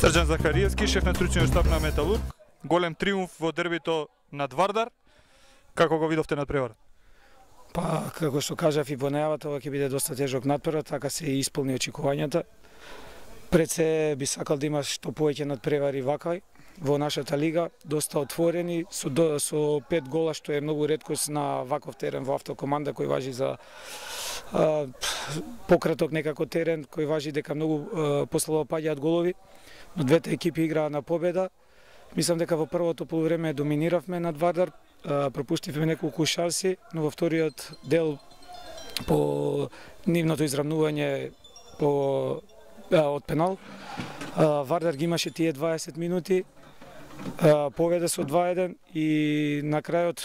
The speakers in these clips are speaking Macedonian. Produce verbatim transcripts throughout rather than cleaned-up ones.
Срđan Захариевски, шеф на стручниот штаб на Металург. Голем триумф во дербито над Вардар. Како го видовте надпреварот? Па, како што кажав и во најавата, ова ќе биде доста тежок надпревар, така се и исполни очекувањата. Пред се би сакал да има што повеќе надпревари вакај во нашата лига, доста отворени, со, до, со пет гола, што е многу реткост на ваков терен во автокоманда, кој важи за а, пократок некако терен, кој важи дека многу а, послабо паѓаат голови, но двете екипи играа на победа. Мислам дека во првото полувреме доминиравме над Вардар, а, пропуштивме неколку шанси, но во вториот дел по нивното изравнување по а, од пенал, а, Вардар ги имаше тие дваесет минути, победа со два еден и на крајот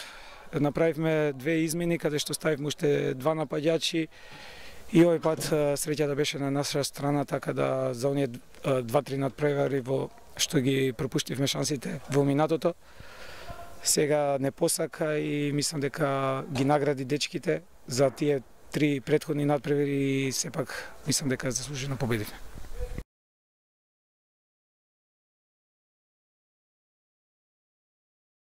направивме две измени каде што ставивме уште два напаѓачи и овој пат среќата беше на наша страна, така да за оние два-три надпревари во што ги пропуштивме шансите во минатото, сега не посака и мислам дека ги награди дечките за тие три претходни надпревари и сепак мислам дека заслужено победивме.